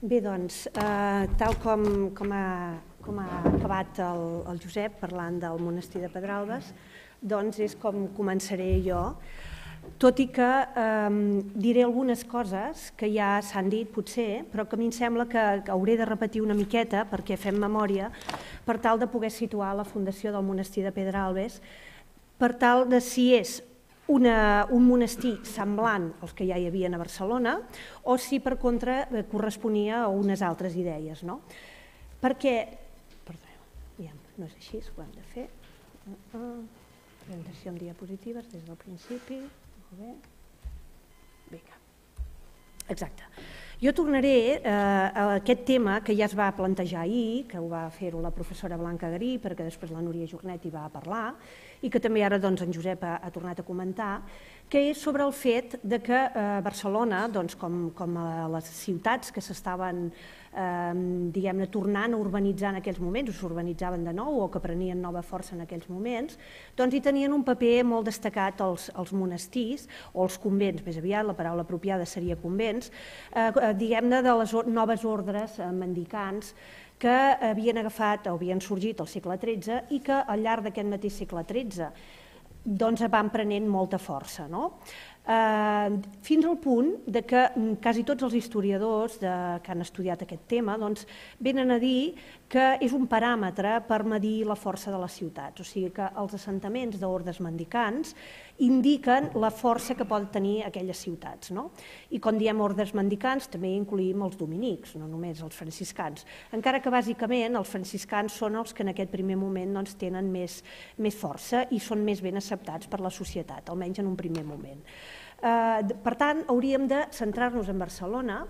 Bé, doncs, tal com ha acabat el Josep parlant del monestir de Pedralbes, doncs és com començaré jo, tot i que diré algunes coses que ja s'han dit potser, però que a mi em sembla que hauré de repetir una miqueta perquè fem memòria per tal de poder situar la fundació del monestir de Pedralbes, per tal de si és un monestir semblant als que ja hi havia a Barcelona o si per contra corresponia a unes altres idees. Perquè, perdó, no és així, ho hem de fer. Presentació amb diapositives des del principi. Molt bé. Vinga. Exacte. Jo tornaré a aquest tema que ja es va plantejar ahir, que ho va fer la professora Blanca Garí, perquè després la Núria Jornet hi va parlar, i que també ara en Josep ha tornat a comentar, que és sobre el fet que Barcelona, com a les ciutats que s'estaven tornant a urbanitzar en aquells moments, o s'urbanitzaven de nou o que prenien nova força en aquells moments, doncs hi tenien un paper molt destacat els monestirs o els convents, més aviat la paraula apropiada seria convents, diguem-ne de les noves ordres mendicants que havien agafat o havien sorgit al segle XIII i que al llarg d'aquest mateix segle XIII doncs van prenent molta força, fins al punt que quasi tots els historiadors que han estudiat aquest tema venen a dir que és un paràmetre per medir la força de les ciutats, o sigui que els assentaments d'ordes mendicants indiquen la força que poden tenir aquelles ciutats. I quan diem ordes mendicants també incluïm els dominics, no només els franciscans, encara que bàsicament els franciscans són els que en aquest primer moment tenen més força i són més ben acceptats per la societat, almenys en un primer moment. Per tant, hauríem de centrar-nos en Barcelona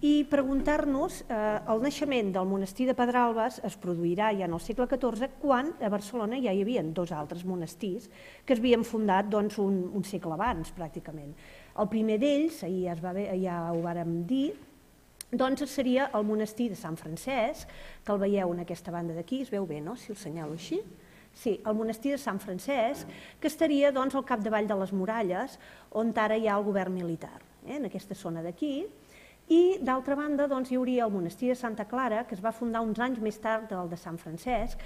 i preguntar-nos, el naixement del monestir de Pedralbes es produirà ja en el segle XIV quan a Barcelona ja hi havia dos altres monestirs que s'havien fundat un segle abans pràcticament. El primer d'ells, ahir ja ho vàrem dir, seria el monestir de Sant Francesc, que el veieu en aquesta banda d'aquí, es veu bé, no?, si el senyalo així. Sí, el monestir de Sant Francesc, que estaria al capdavall de les muralles, on ara hi ha el govern militar, en aquesta zona d'aquí. I, d'altra banda, hi hauria el monestir de Santa Clara, que es va fundar uns anys més tard del de Sant Francesc,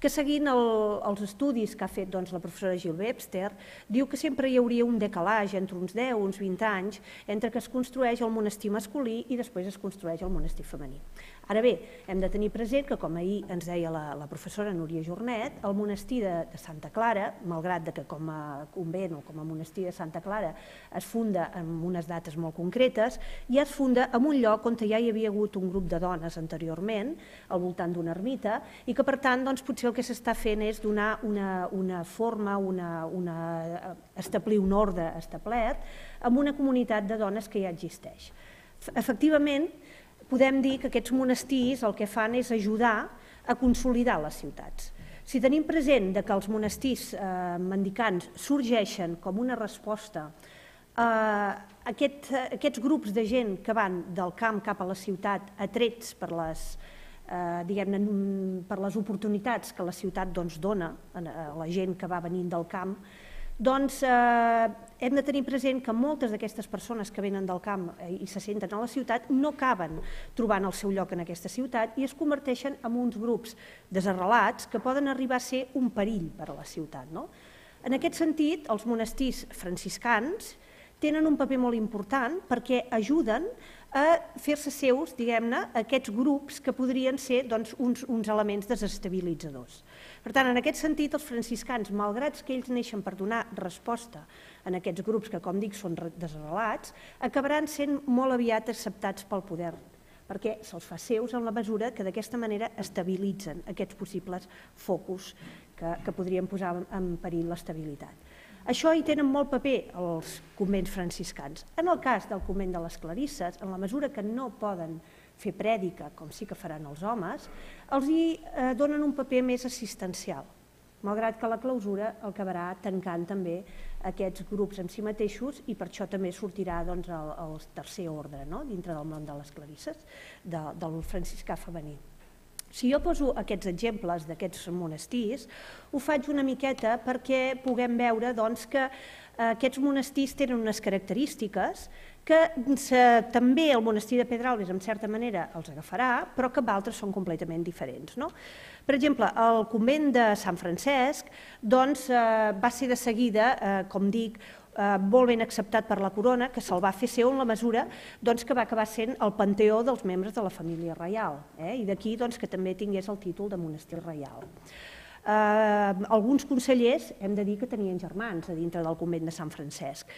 que seguint els estudis que ha fet la professora Gil Webster, diu que sempre hi hauria un decalatge entre uns 10 o uns 20 anys entre que es construeix el monestir masculí i després es construeix el monestir femení. Ara bé, hem de tenir present que, com ahir ens deia la professora Núria Jornet, el monestir de Santa Clara, malgrat que com a convent o com a monestir de Santa Clara es funda en unes dates molt concretes, ja es funda en un lloc on ja hi havia hagut un grup de dones anteriorment, al voltant d'una ermita, i que per tant potser el que s'està fent és donar una forma, establir un ordre establert amb una comunitat de dones que ja existeix. Efectivament, podem dir que aquests monestirs el que fan és ajudar a consolidar les ciutats. Si tenim present que els monestirs mendicants sorgeixen com una resposta a aquests grups de gent que van del camp cap a la ciutat atrets per les oportunitats que la ciutat dona a la gent que va venint del camp, hem de tenir present que moltes d'aquestes persones que venen del camp i se senten a la ciutat no acaben trobant el seu lloc en aquesta ciutat i es converteixen en uns grups desarrelats que poden arribar a ser un perill per a la ciutat. En aquest sentit, els monestirs franciscans tenen un paper molt important perquè ajuden a fer-se seus, diguem-ne, aquests grups que podrien ser uns elements desestabilitzadors. Per tant, en aquest sentit, els franciscans, malgrat que ells neixen per donar resposta a aquests grups que, com dic, són desarrelats, acabaran sent molt aviat acceptats pel poder, perquè se'ls fa seus en la mesura que d'aquesta manera estabilitzen aquests possibles focus que podrien posar en perill l'estabilitat. Això hi tenen molt paper els convents franciscans. En el cas del convent de les Clarisses, en la mesura que no poden fer prèdica, com sí que faran els homes, els hi donen un paper més assistencial, malgrat que la clausura acabarà tancant també aquests grups en si mateixos i per això també sortirà el tercer ordre dintre del món de les Clarisses, del franciscà femení. Si jo poso aquests exemples d'aquests monestirs, ho faig una miqueta perquè puguem veure que aquests monestirs tenen unes característiques que també el monestir de Pedralbes, en certa manera, els agafarà, però que altres són completament diferents. Per exemple, el convent de Sant Francesc va ser de seguida, com dic, molt ben acceptat per la corona, que se'l va fer seu en la mesura que va acabar sent el panteó dels membres de la família reial, i d'aquí que també tingués el títol de monestir reial. Alguns consellers hem de dir que tenien germans a dintre del convent de Sant Francesc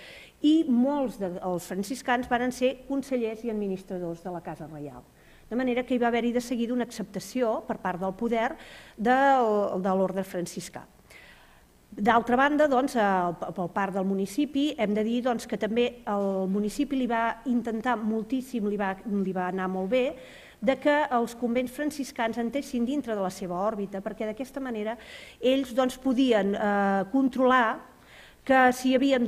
i molts dels franciscans van ser consellers i administradors de la Casa Reial. De manera que hi va haver-hi de seguida una acceptació per part del poder de l'ordre franciscà. D'altra banda, per part del municipi, hem de dir que també el municipi li va intentar moltíssim, li va anar molt bé, que els convents franciscans entessin dintre de la seva òrbita, perquè d'aquesta manera ells podien controlar que si hi havia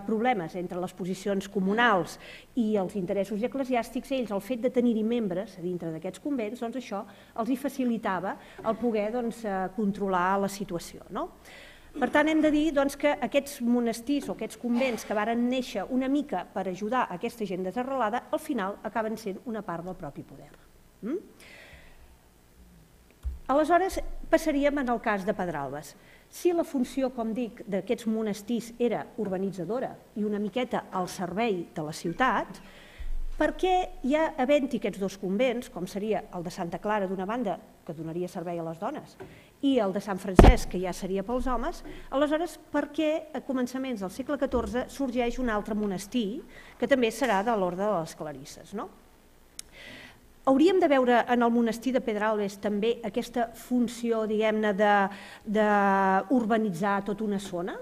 problemes entre les posicions comunals i els interessos eclesiàstics, ells, el fet de tenir-hi membres a dintre d'aquests convents, això els hi facilitava el poder controlar la situació. Per tant, hem de dir que aquests monestirs o aquests convents que varen néixer una mica per ajudar aquesta gent desarrelada, al final acaben sent una part del propi poder. Aleshores, passaríem en el cas de Pedralbes. Si la funció, com dic, d'aquests monestirs era urbanitzadora i una miqueta al servei de la ciutat, per què ja havent-hi aquests dos convents, com seria el de Santa Clara d'una banda, que donaria servei a les dones, i el de Sant Francesc, que ja seria pels homes, aleshores per què a començaments del segle XIV sorgeix un altre monestir, que també serà de l'Orde de les Clarisses? Hauríem de veure en el monestir de Pedralbes també aquesta funció, diguem-ne, d'urbanitzar tota una zona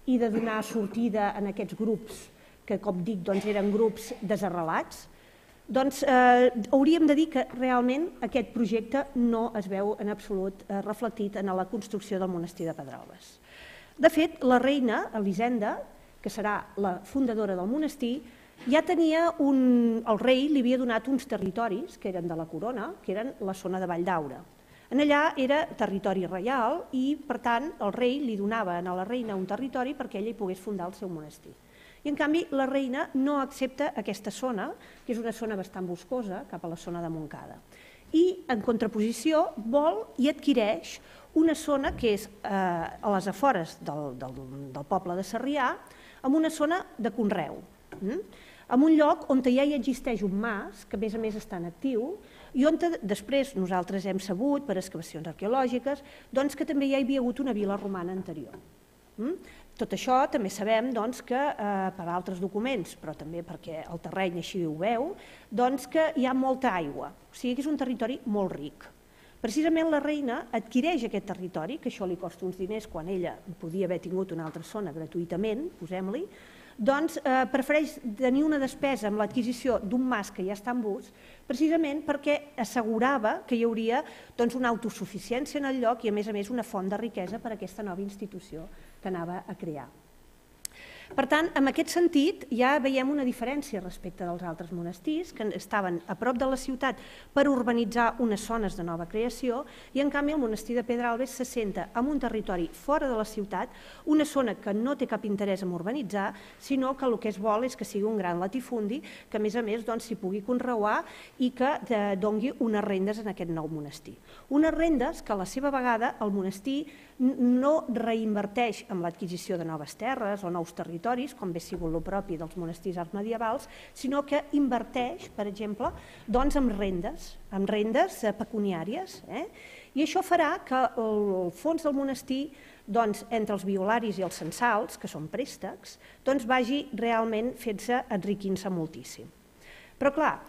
i de donar sortida en aquests grups que, com dic, eren grups desarrelats, hauríem de dir que realment aquest projecte no es veu en absolut reflectit en la construcció del monestir de Pedralbes. De fet, la reina Elisenda, que serà la fundadora del monestir, ja tenia el rei li havia donat uns territoris que eren de la corona, que eren la zona de Valldaura. Allà era territori reial i, per tant, el rei li donava a la reina un territori perquè ella hi pogués fundar el seu monestir. I, en canvi, la reina no accepta aquesta zona, que és una zona bastant boscosa, cap a la zona de Montcada. I, en contraposició, vol i adquireix una zona que és a les afores del poble de Sarrià, amb una zona de conreu, en un lloc on ja hi existeix un mas, que a més està en actiu, i on després nosaltres hem sabut, per excavacions arqueològiques, que també hi havia hagut una vila romana anterior. Tot això també sabem que per altres documents, però també perquè el terreny així ho veu, que hi ha molta aigua, o sigui que és un territori molt ric. Precisament la reina adquireix aquest territori, que això li costa uns diners quan ella podia haver tingut una altra zona gratuïtament, posem-li, prefereix tenir una despesa amb l'adquisició d'un mas que ja està en ús, precisament perquè assegurava que hi hauria una autosuficiència en el lloc i, a més, una font de riquesa per a aquesta nova institució que anava a crear. Per tant, en aquest sentit, ja veiem una diferència respecte dels altres monestirs que estaven a prop de la ciutat per urbanitzar unes zones de nova creació i, en canvi, el monestir de Pedralbes s'assenta en un territori fora de la ciutat, una zona que no té cap interès en urbanitzar, sinó que el que es vol és que sigui un gran latifundi que, a més, s'hi pugui conreuar i que doni unes rendes en aquest nou monestir. Unes rendes que, a la seva vegada, el monestir no reinverteix en l'adquisició de noves terres o nous territoris, com bé sigut el propi dels monestirs arts medievals, sinó que inverteix, per exemple, en rendes pecuniàries. I això farà que el fons del monestir, entre els violaris i els censals, que són préstecs, vagi realment fent-se enriquint-se moltíssim. Però, clar,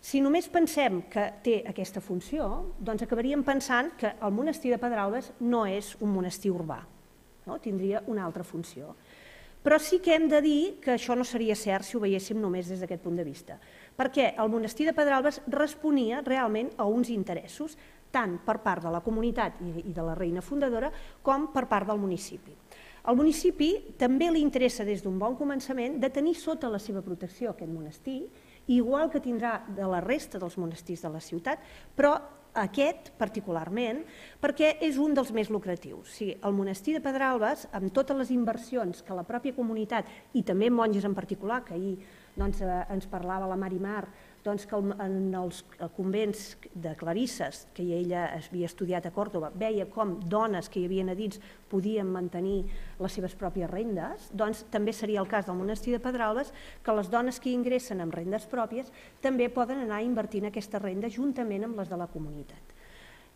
si només pensem que té aquesta funció, acabaríem pensant que el monestir de Pedralbes no és un monestir urbà, tindria una altra funció. Però sí que hem de dir que això no seria cert si ho veiéssim només des d'aquest punt de vista, perquè el monestir de Pedralbes responia realment a uns interessos, tant per part de la comunitat i de la reina fundadora com per part del municipi. Al municipi també li interessa des d'un bon començament de tenir sota la seva protecció aquest monestir, igual que tindrà de la resta dels monestirs de la ciutat, però aquest particularment perquè és un dels més lucratius. El monestir de Pedralbes, amb totes les inversions que la pròpia comunitat i també monges en particular, que ahir ens parlava la Marimar que en els convents de clarisses, que ella havia estudiat a Còrdova, veia com dones que hi havia a dins podien mantenir les seves pròpies rendes, doncs també seria el cas del monestir de Pedralbes, que les dones que hi ingressen amb rendes pròpies també poden anar invertint aquesta renda juntament amb les de la comunitat.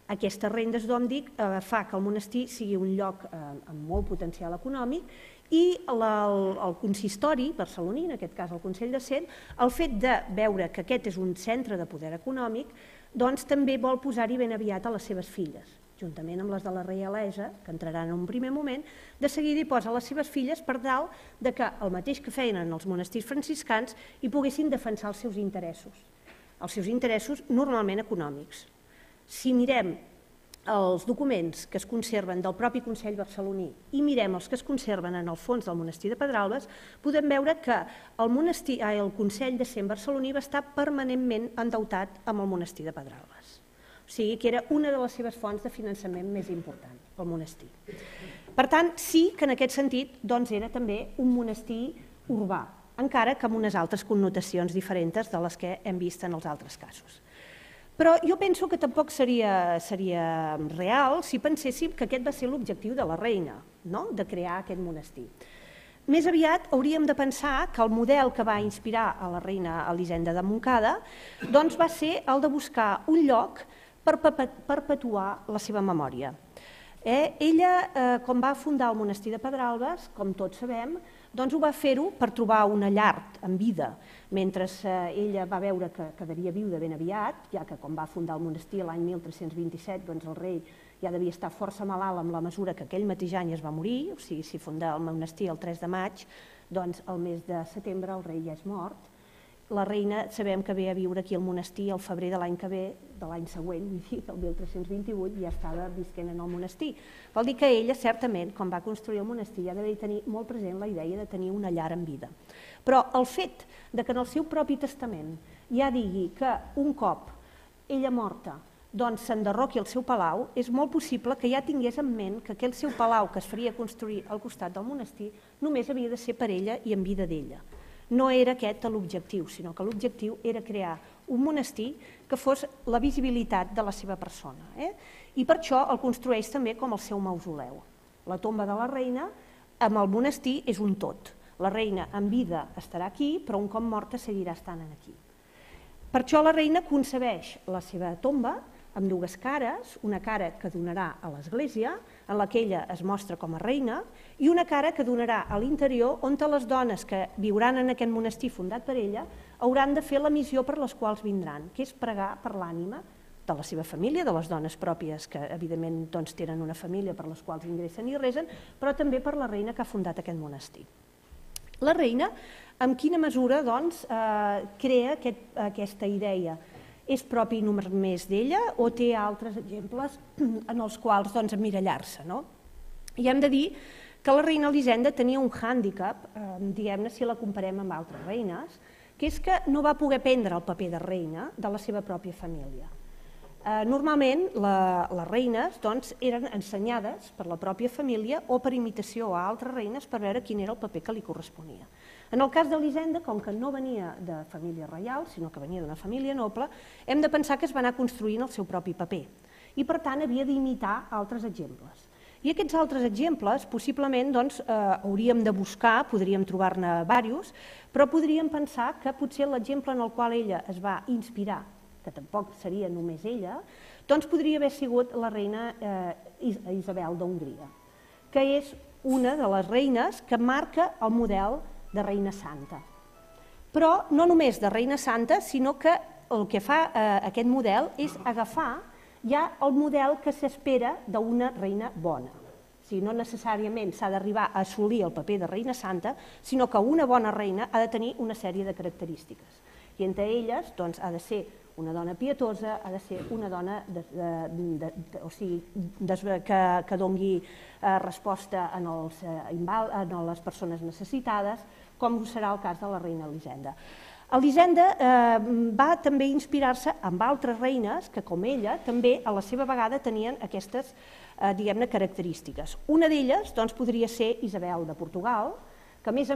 Aquestes rendes, d'on dic, fa que el monestir sigui un lloc amb molt potencial econòmic i el consistori barceloní, en aquest cas el Consell de Cent, el fet de veure que aquest és un centre de poder econòmic, doncs també vol posar-hi ben aviat a les seves filles, juntament amb les de la reialesa, que entraran en un primer moment, de seguida hi posa les seves filles per tal que el mateix que feien en els monestirs franciscans hi poguessin defensar els seus interessos normalment econòmics. Si mirem els documents que es conserven del propi Consell barceloní i mirem els que es conserven en el fons del monestir de Pedralbes, podem veure que el Consell de Cent barceloní va estar permanentment endeutat amb el monestir de Pedralbes. O sigui que era una de les seves fonts de finançament més important, el monestir. Per tant, sí que en aquest sentit era també un monestir urbà, encara que amb unes altres connotacions diferents de les que hem vist en els altres casos. Però jo penso que tampoc seria real si penséssim que aquest va ser l'objectiu de la reina, de crear aquest monestir. Més aviat hauríem de pensar que el model que va inspirar a la reina Elisenda de Montcada va ser el de buscar un lloc per perpetuar la seva memòria. Ella, quan va fundar el monestir de Pedralbes, com tots sabem, ho va fer-ho per trobar una llar en vida, mentre ella va veure que quedaria viuda ben aviat, ja que quan va fundar el monestir l'any 1327 el rei ja devia estar força malalt amb la mesura que aquell mateix any es va morir, o sigui, si funda el monestir el 3 de maig, doncs el mes de setembre el rei ja és mort. La reina sabem que ve a viure aquí al monestir el febrer de l'any que ve, de l'any següent, el 1328, ja estava visquent en el monestir. Vol dir que ella, certament, quan va construir el monestir, ja devia tenir molt present la idea de tenir una llar en vida. Però el fet que en el seu propi testament ja digui que un cop ella morta s'enderroqui el seu palau, és molt possible que ja tingués en ment que aquell seu palau que es faria construir al costat del monestir només havia de ser per ella i en vida d'ella. No era aquest l'objectiu, sinó que l'objectiu era crear un monestir que fos la visibilitat de la seva persona. I per això el construeix també com el seu mausoleu. La tomba de la reina amb el monestir és un tot. La reina en vida estarà aquí, però un cop morta seguirà estant aquí. Per això la reina concebeix la seva tomba amb dues cares, una cara que donarà a l'església, en la que ella es mostra com a reina, i una cara que donarà a l'interior, on les dones que viuran en aquest monestir fundat per ella hauran de fer la missió per les quals vindran, que és pregar per l'ànima de la seva família, de les dones pròpies que evidentment tenen una família per les quals ingressen i resen, però també per la reina que ha fundat aquest monestir. La reina, en quina mesura crea aquesta idea? És propi només d'ella o té altres exemples en els quals emmirallar-se? I hem de dir que la reina Elisenda tenia un hàndicap, diguem-ne, si la comparem amb altres reines, que és que no va poder prendre el paper de reina de la seva pròpia família. Normalment, les reines eren ensenyades per la pròpia família o per imitació a altres reines per veure quin era el paper que li corresponia. En el cas d'Elisenda, com que no venia de família reial, sinó que venia d'una família noble, hem de pensar que es va anar construint el seu propi paper i, per tant, havia d'imitar altres exemples. I aquests altres exemples, possiblement, hauríem de buscar, podríem trobar-ne diversos, però podríem pensar que potser l'exemple en el qual ella es va inspirar, que tampoc seria només ella, podria haver sigut la reina Isabel d'Hongria, que és una de les reines que marca el model de reina santa. Però no només de reina santa, sinó que el que fa aquest model és agafar ja el model que s'espera d'una reina bona. O sigui, no necessàriament s'ha d'arribar a assolir el paper de reina santa, sinó que una bona reina ha de tenir una sèrie de característiques. I entre elles ha de ser una dona pietosa, ha de ser una dona que doni resposta a les persones necessitades, com serà el cas de la reina Elisenda. Elisenda va també inspirar-se amb altres reines que, com ella, també a la seva vegada tenien aquestes, diguem-ne, característiques. Una d'elles podria ser Isabel de Portugal, que a més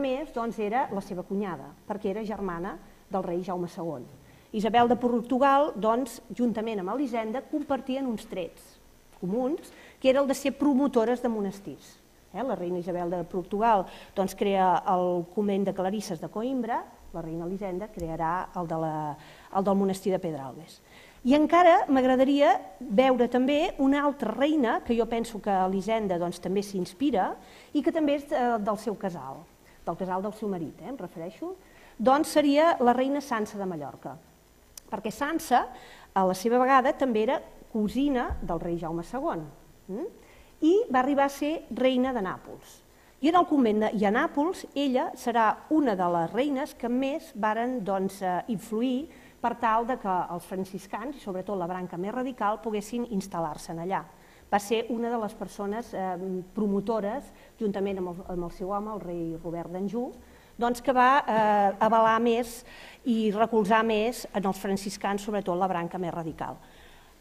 era la seva cunyada, perquè era germana del rei Jaume II. Isabel de Portugal, juntament amb Elisenda, compartien uns trets comuns, que era el de ser promotores de monestirs. La reina Isabel de Portugal crea el convent de Clarisses de Coïmbra, la reina Elisenda crearà el del monestir de Pedralbes. I encara m'agradaria veure també una altra reina, que jo penso que Elisenda també s'inspira i que també és del seu casal, del casal del seu marit, em refereixo, seria la reina Sança de Mallorca, perquè Sança, a la seva vegada, també era cosina del rei Jaume II i va arribar a ser reina de Nàpols. I en el convent i a Nàpols ella serà una de les reines que més varen influir per tal que els franciscans, i sobretot la branca més radical, poguessin instal·lar-se allà. Va ser una de les persones promotores, juntament amb el seu home, el rei Robert d'Anjou, que va avalar més i recolzar més en els franciscans, sobretot la branca més radical.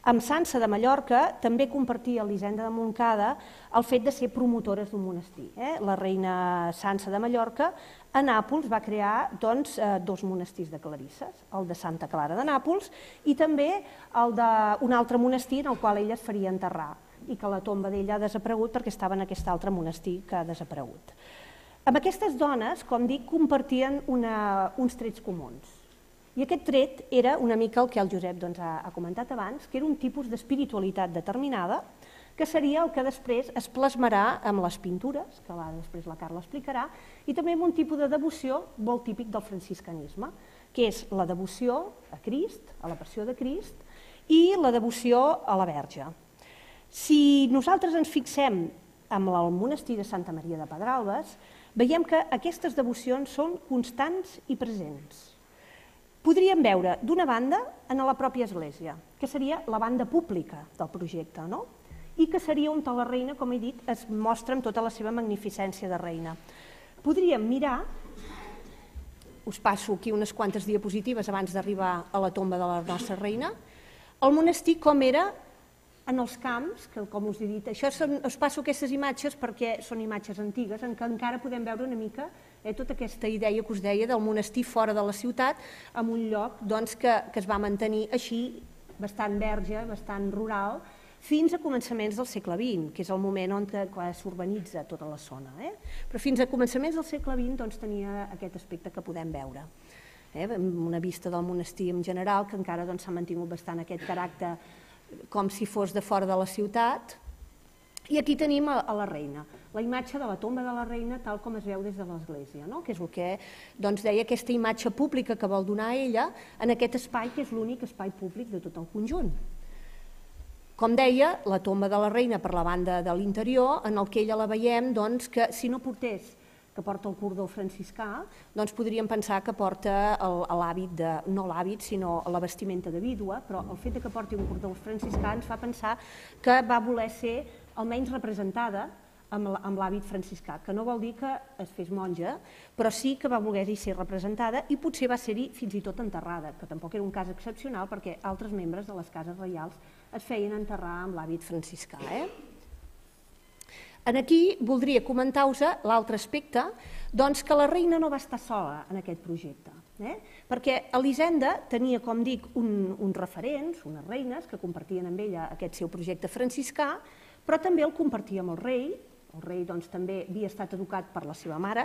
Amb Sança de Mallorca també compartia Elisenda de Montcada el fet de ser promotores d'un monestir. La reina Sança de Mallorca a Nàpols va crear dos monestirs de clarisses, el de Santa Clara de Nàpols i també el d'un altre monestir en el qual ella es faria enterrar i que la tomba d'ella ha desaparegut perquè estava en aquest altre monestir que ha desaparegut. Amb aquestes dones, com dic, compartien uns trets comuns. I aquest tret era una mica el que el Josep ha comentat abans, que era un tipus d'espiritualitat determinada, que seria el que després es plasmarà amb les pintures, que després la Carla explicarà, i també amb un tipus de devoció molt típic del franciscanisme, que és la devoció a Crist, a la passió de Crist, i la devoció a la Verge. Si nosaltres ens fixem en el monestir de Santa Maria de Pedralbes, veiem que aquestes devocions són constants i presents. Podríem veure, d'una banda, en la pròpia església, que seria la banda pública del projecte, i que seria on la reina, com he dit, es mostra amb tota la seva magnificència de reina. Podríem mirar, us passo aquí unes quantes diapositives abans d'arribar a la tomba de la nostra reina, el monestir com era en els camps, que com us he dit, us passo aquestes imatges perquè són imatges antigues en què encara podem veure una mica tota aquesta idea que us deia del monestir fora de la ciutat, en un lloc que es va mantenir així, bastant verge, bastant rural, fins a començaments del segle XX, que és el moment on s'urbanitza tota la zona. Però fins a començaments del segle XX tenia aquest aspecte que podem veure. Una vista del monestir en general, que encara s'ha mantingut bastant aquest caràcter com si fos de fora de la ciutat. I aquí tenim a la reina, la imatge de la tomba de la reina tal com es veu des de l'església, que és el que deia aquesta imatge pública que vol donar ella en aquest espai que és l'únic espai públic de tot el conjunt. Com deia, la tomba de la reina per la banda de l'interior, en el que ella la veiem que si no portés que porta el cordó franciscà, podríem pensar que porta l'hàbit, no l'hàbit, sinó la vestimenta de vídua, però el fet que porti un cordó franciscà ens fa pensar que va voler ser almenys representada amb l'hàbit franciscà, que no vol dir que es fes monja, però sí que va voler-hi ser representada i potser va ser-hi fins i tot enterrada, que tampoc era un cas excepcional perquè altres membres de les cases reials es feien enterrar amb l'hàbit franciscà. Aquí voldria comentar-vos l'altre aspecte, que la reina no va estar sola en aquest projecte, perquè Elisenda tenia, com dic, uns referents, unes reines que compartien amb ella aquest seu projecte franciscà, però també el compartia amb el rei també havia estat educat per la seva mare,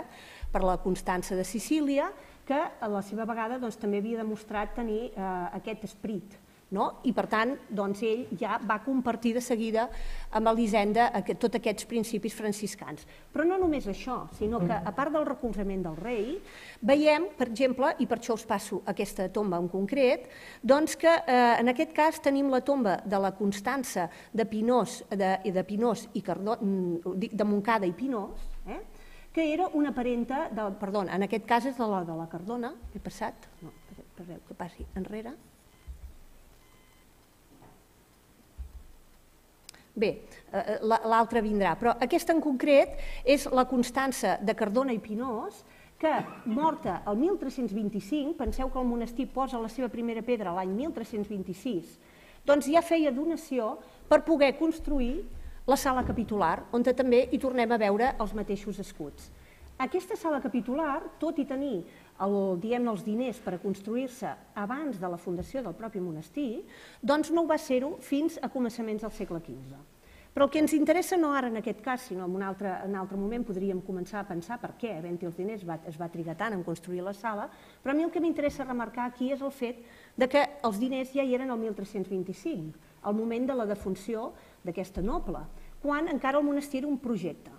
per la Constança de Sicília, que a la seva vegada també havia demostrat tenir aquest esperit. I per tant ell ja va compartir de seguida amb Elisenda tots aquests principis franciscans. Però no només això, sinó que a part del recolzament del rei, veiem, per exemple, i per això us passo aquesta tomba en concret, que en aquest cas tenim la tomba de la Constança de Montcada i Pinós, que era una parenta, perdó, en aquest cas és de la Cardona, he passat, no, espereu que passi enrere. Bé, l'altra vindrà, però aquesta en concret és la Constança de Cardona i Pinós, que, morta el 1325, penseu que el monestir posa la seva primera pedra l'any 1326, doncs ja feia donació per poder construir la sala capitular, on també hi tornem a veure els mateixos escuts. Aquesta sala capitular, tot i tenir els diners per a construir-se abans de la fundació del propi monestir, doncs no ho va ser-ho fins a començaments del segle XV. Però el que ens interessa no ara en aquest cas, sinó en un altre moment podríem començar a pensar per què, havent-hi els diners, es va trigar tant en construir la sala, però a mi el que m'interessa remarcar aquí és el fet que els diners ja hi eren el 1325, al moment de la defunció d'aquesta noble, quan encara el monestir era un projecte.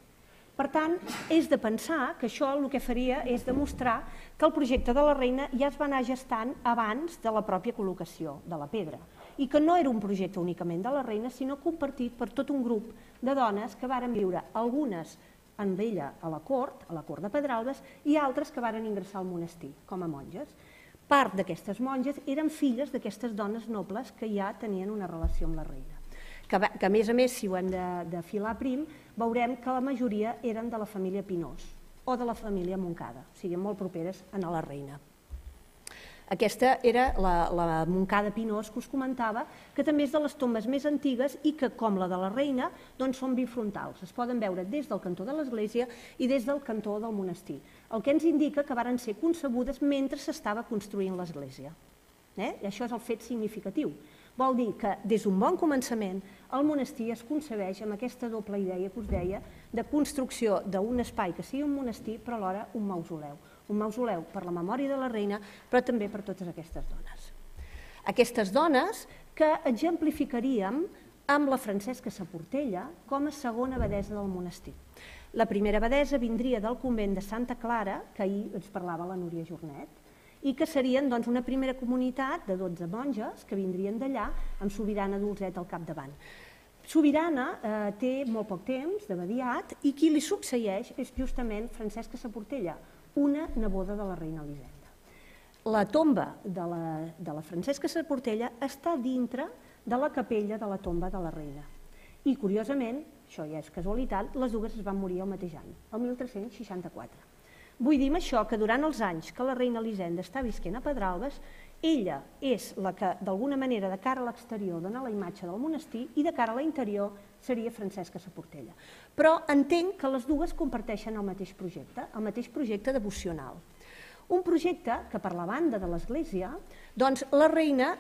Per tant, és de pensar que això el que faria és demostrar que el projecte de la reina ja es va anar gestant abans de la pròpia col·locació de la pedra i que no era un projecte únicament de la reina, sinó compartit per tot un grup de dones que varen viure, algunes amb ella a la cort de Pedralbes, i altres que varen ingressar al monestir com a monges. Part d'aquestes monges eren filles d'aquestes dones nobles que ja tenien una relació amb la reina. Que a més, si ho hem de filar prim, veurem que la majoria eren de la família Pinós o de la família Montcada, o sigui, molt properes a la reina. Aquesta era la Montcada Pinós que us comentava, que també és de les tombes més antigues i que, com la de la reina, doncs són bifrontals. Es poden veure des del cantó de l'església i des del cantó del monestir, el que ens indica que varen ser concebudes mentre s'estava construint l'església. I això és el fet significatiu. Vol dir que des d'un bon començament el monestir es concebeix amb aquesta doble idea que us deia de construcció d'un espai que sigui un monestir però alhora un mausoleu. Un mausoleu per la memòria de la reina però també per totes aquestes dones. Aquestes dones que exemplificaríem amb la Francesca Saportella com a segona abadessa del monestir. La primera abadessa vindria del convent de Santa Clara, que ahir ens parlava la Núria Jornet, i que serien una primera comunitat de 12 monges que vindrien d'allà amb Sobirana Dolzet al capdavant. Sobirana té molt poc temps d'abadiat i qui li succeeix és justament Francesca Saportella, una neboda de la reina Elisenda. La tomba de la Francesca Saportella està dintre de la capella de la tomba de la reina. I, curiosament, això ja és casualitat, les dues es van morir el mateix any, el 1364. Vull dir amb això que durant els anys que la reina Elisenda està visquent a Pedralbes, ella és la que, d'alguna manera, de cara a l'exterior dona la imatge del monestir i de cara a l'interior seria Francesca Saportella. Però entenc que les dues comparteixen el mateix projecte devocional. Un projecte que, per la banda de l'Església, doncs la reina,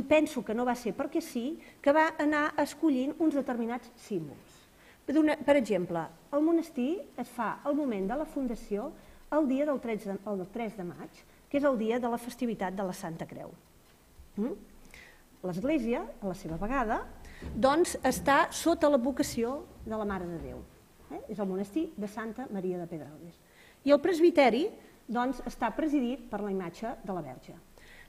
penso que no va ser perquè sí, que va anar escollint uns determinats símbols. Per exemple, el monestir es fa al moment de la fundació el dia del 3 de maig, que és el dia de la festivitat de la Santa Creu. L'Església, a la seva vegada, doncs està sota l'advocació de la Mare de Déu. És el monestir de Santa Maria de Pedralbes. I el presbiteri doncs, està presidit per la imatge de la Verge.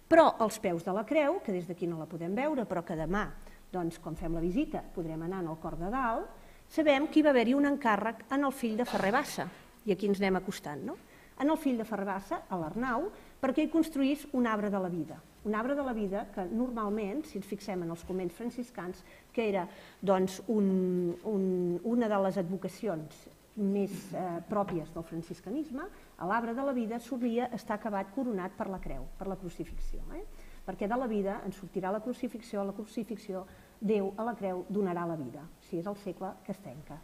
Però als peus de la creu, que des d'aquí no la podem veure, però que demà, doncs, quan fem la visita, podrem anar al cor de dalt, sabem que hi va haver-hi un encàrrec en el fill de Ferrer Bassa, i aquí ens anem acostant, no? En el fill de Ferrer Bassa, a l'Arnau, perquè hi construís un arbre de la vida. Un arbre de la vida que normalment, si ens fixem en els convents franciscans, que era doncs, una de les advocacions més pròpies del franciscanisme, l'arbre de la vida solia estar acabat coronat per la creu, per la crucifixió. Perquè de la vida ens sortirà la crucifixió, Déu a la creu donarà la vida, si és el segle que es tanca.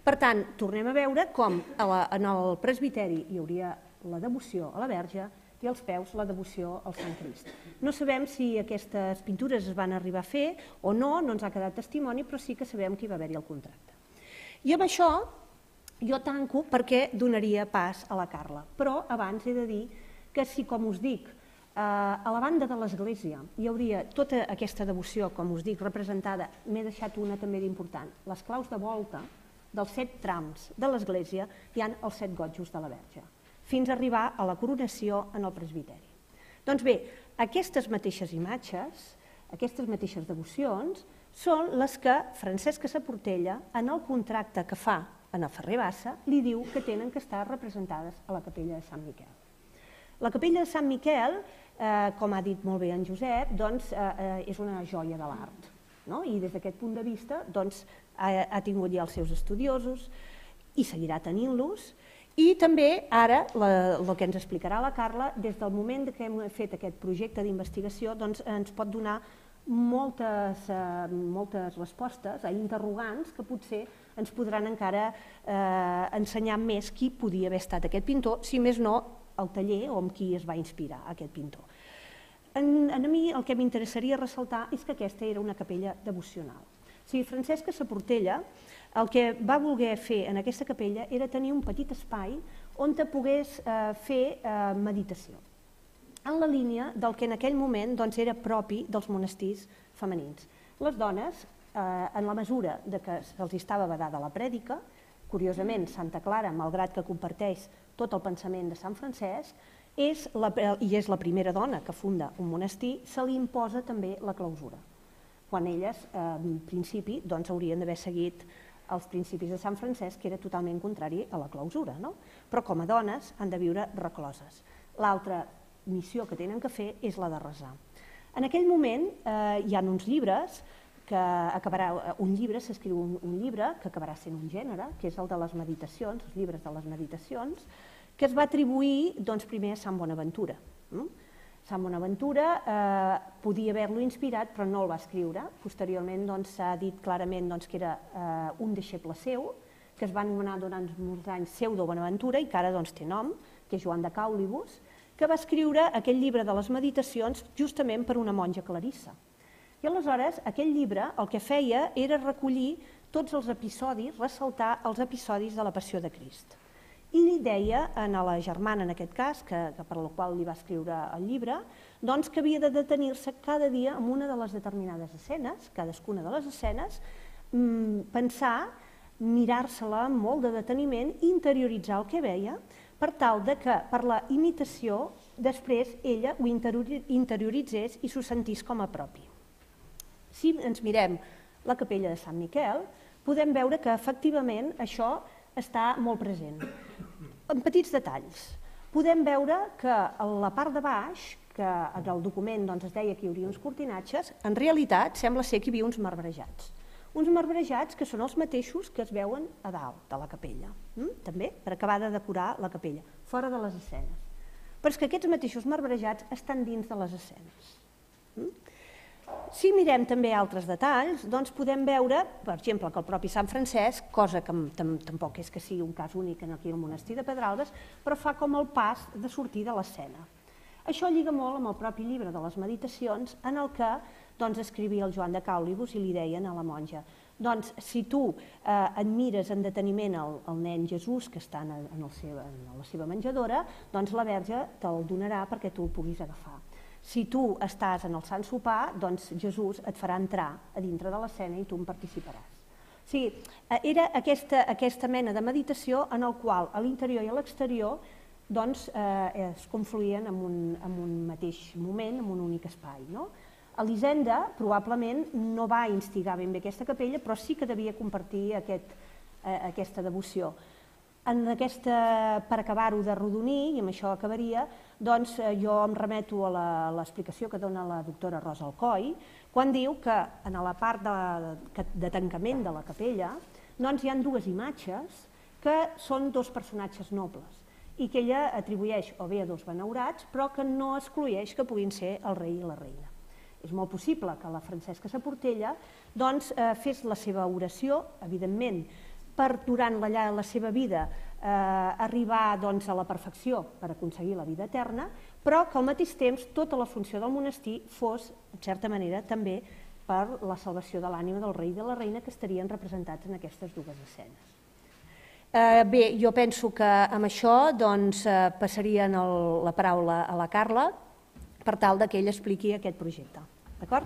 Per tant, tornem a veure com en el presbiteri hi hauria la devoció a la Verge i als peus la devoció al Sant Crist. No sabem si aquestes pintures es van arribar a fer o no, no ens ha quedat testimoni, però sí que sabem que hi va haver-hi el contracte. I amb això jo tanco perquè donaria pas a la Carla, però abans he de dir que si, com us dic, a la banda de l'església hi hauria tota aquesta devoció, com us dic, representada, m'he deixat una també d'important, les claus de volta dels 7 trams de l'església hi ha els 7 gotjos de la Verge, fins a arribar a la coronació en el presbiteri. Doncs bé, aquestes mateixes imatges, aquestes mateixes devocions, són les que Francesca Saportella, en el contracte que fa en el Ferrer Bassa, li diu que tenen que estar representades a la capella de Sant Miquel. La capella de Sant Miquel, com ha dit molt bé en Josep, és una joia de l'art. I des d'aquest punt de vista ha tingut ja els seus estudiosos i seguirà tenint-los. I també ara, el que ens explicarà la Carla, des del moment que hem fet aquest projecte d'investigació ens pot donar moltes respostes a interrogants que potser ens podran encara ensenyar més qui podia haver estat aquest pintor, si més no el taller o amb qui es va inspirar aquest pintor. A mi el que m'interessaria ressaltar és que aquesta era una capella devocional. O sigui, Francesc Saportella el que va voler fer en aquesta capella era tenir un petit espai on te pogués fer meditació, en la línia del que en aquell moment era propi dels monestirs femenins. Les dones, en la mesura que se'ls estava vedada la prèdica, curiosament Santa Clara, malgrat que comparteix tot el pensament de Sant Francesc, i és la primera dona que funda un monestir, se li imposa també la clausura, quan elles, en principi, haurien d'haver seguit els principis de Sant Francesc, que era totalment contrari a la clausura, però com a dones han de viure recloses. L'altra missió que tenen que fer és la de resar. En aquell moment hi ha uns llibres, s'escriu un llibre que acabarà sent un gènere, que és el de les meditacions, els llibres de les meditacions, que es va atribuir primer a Sant Bonaventura. Sant Bonaventura podia haver-lo inspirat, però no el va escriure. Posteriorment s'ha dit clarament que era un deixeble seu, que es va anomenar durant molts anys Pseudo Bonaventura i que ara té nom, que és Joan de Caulibus, que va escriure aquell llibre de les meditacions justament per una monja clarissa. I aleshores aquell llibre el que feia era recollir tots els episodis, ressaltar els episodis de la Passió de Crist. I li deia a la germana, en aquest cas, per la qual li va escriure el llibre, que havia de detenir-se cada dia en una de les determinades escenes, cadascuna de les escenes, pensar, mirar-se-la amb molt de deteniment, interioritzar el que veia, per tal que per la imitació després ella ho interioritzés i s'ho sentís com a propi. Si ens mirem la capella de Sant Miquel, podem veure que efectivament això està molt present. En petits detalls, podem veure que a la part de baix, que en el document es deia que hi hauria uns cortinatges, en realitat sembla ser que hi havia uns marbrejats. Uns marbrejats que són els mateixos que es veuen a dalt de la capella, també per acabar de decorar la capella, fora de les escenes. Però és que aquests mateixos marbrejats estan dins de les escenes. Si mirem també altres detalls, podem veure, per exemple, que el propi Sant Francesc, cosa que tampoc és que sigui un cas únic aquí al monestir de Pedralbes, però fa com el pas de sortir de l'escena. Això lliga molt amb el propi llibre de les meditacions, en el que escrivia el Joan de Caulibus i li deien a la monja: si tu et mires en deteniment el nen Jesús que està en la seva menjadora, la Verge te'l donarà perquè tu el puguis agafar. Si tu estàs en el Sant Sopar, Jesús et farà entrar a dintre de l'escena i tu en participaràs. O sigui, era aquesta mena de meditació en el qual a l'interior i a l'exterior es confluïen en un mateix moment, en un únic espai. Elisenda probablement no va instigar ben bé aquesta capella, però sí que devia compartir aquesta devoció. Per acabar-ho d'arrodonir, i amb això acabaria, jo em remeto a l'explicació que dona la doctora Rosa Alcoi, quan diu que en la part de tancament de la capella hi ha dues imatges que són dos personatges nobles i que ella atribueix o bé a dos benaurats, però que no excloeix que puguin ser el rei i la reina. És molt possible que la Francesca Saportella fes la seva oració, evidentment, per durant la seva vida arribar a la perfecció per aconseguir la vida eterna, però que al mateix temps tota la funció del monestir fos, en certa manera, també per la salvació de l'ànima del rei i de la reina que estarien representats en aquestes dues escenes. Bé, jo penso que amb això passaria la paraula a la Carla per tal que ella expliqui aquest projecte. D'acord?